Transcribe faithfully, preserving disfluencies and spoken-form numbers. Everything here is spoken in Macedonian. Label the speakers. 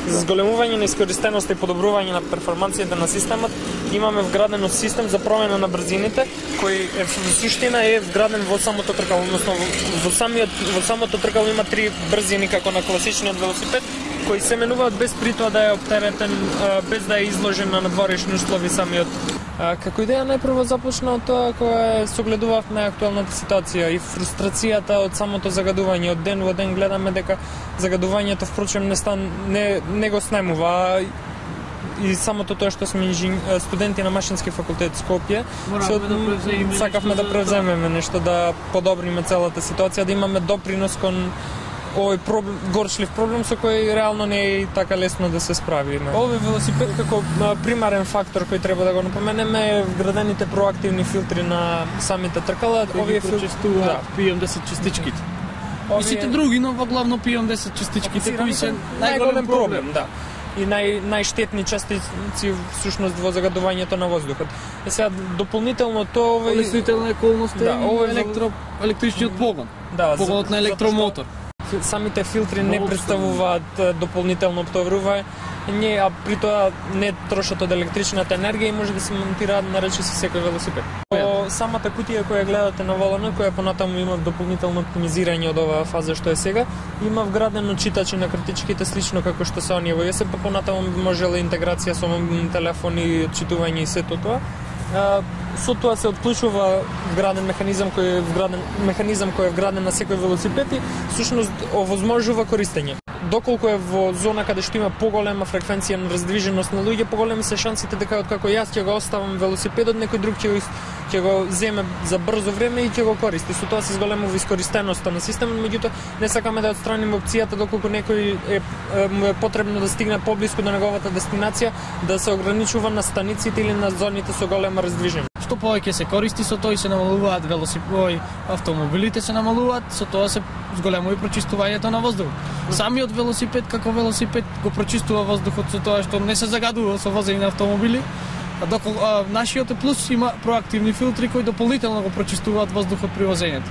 Speaker 1: За зголемување на искористеноста и подобрување на перформанцијата на системот, имаме вградено систем за промена на брзините, кој е во суштина е вграден во самото тркало, односно во самиот во самото тркало има три брзини како на класичниот велосипед, кои се менуваат без при тоа да е оптеретен, без да е изложен на надворешни услови самиот. Како идеја најпрво започна од тоа кога согледувавме актуелната ситуација и фрустрацијата од самото загадување. Од ден во ден гледаме дека загадувањето впрочем не стан не не го снемува, и самото тоа што сме инжин... студенти на Машински факултет Скопје, се... да сакавме да превземеме нешто, да подобриме целата ситуација, да имаме допринос кон овој проблем, горчлив проблем со кој реално не е така лесно да се справи. Овој велосипед како примарен фактор кој треба да го напоменеме е вградените проактивни филтри на самите тркала.
Speaker 2: Овие прочистуваат да. пи ем десет частичките. Овие... И сите други, но во главно пи ем десет частичките кои се најголем проблем,
Speaker 1: да. И нај најштетни частици всушност во загадувањето на воздухот. Е сега дополнително тоа овој
Speaker 2: олеснителна околност е да, овој електро електричниот погон. Да, погонот на електромотор.
Speaker 1: Самите филтри не представуваат дополнително обтоварување, а при тоа не трошат од електричната енергија и може да се монтираат на речиси секој велосипед. По самата кутија која гледате на воланот, која понатаму има дополнително оптимизирање од оваа фаза што е сега, има вградено читачи на картичките слично како што се оние во ЕСП, понатаму можела интеграција со мобилни телефони, отчитување и сето тоа. Со тоа се отклучува вграден механизам кој е вграден механизам кој е вграден на секој велосипед и всушност овозможува користење. Доколку е во зона каде што има поголема фреквенција на раздвиженост на луѓе, поголеми се шансите дека откако јас ќе го оставам велосипедот, некој друг ќе го ќе го земе за брзо време и ќе го користи. Со тоа се зголемува искористеноста на системот, меѓутоа не сакаме да отстраниме опцијата доколку некој е, е, му е потребно да стигне поблиску до неговата дестинација, да се ограничува на станиците или на зоните со голема раздвиженост.
Speaker 2: Што повеќе се користи, со тоа и се намалуваат велосипеди, автомобилите се намалуваат, со тоа се зголемува и прочистувањето на воздухот. Самиот велосипед како велосипед го прочистува воздухот со тоа што не се загадува со возење на автомобили, а доколку нашиот плюс има проактивни филтри кои дополнително го прочистуваат воздухот при возењето.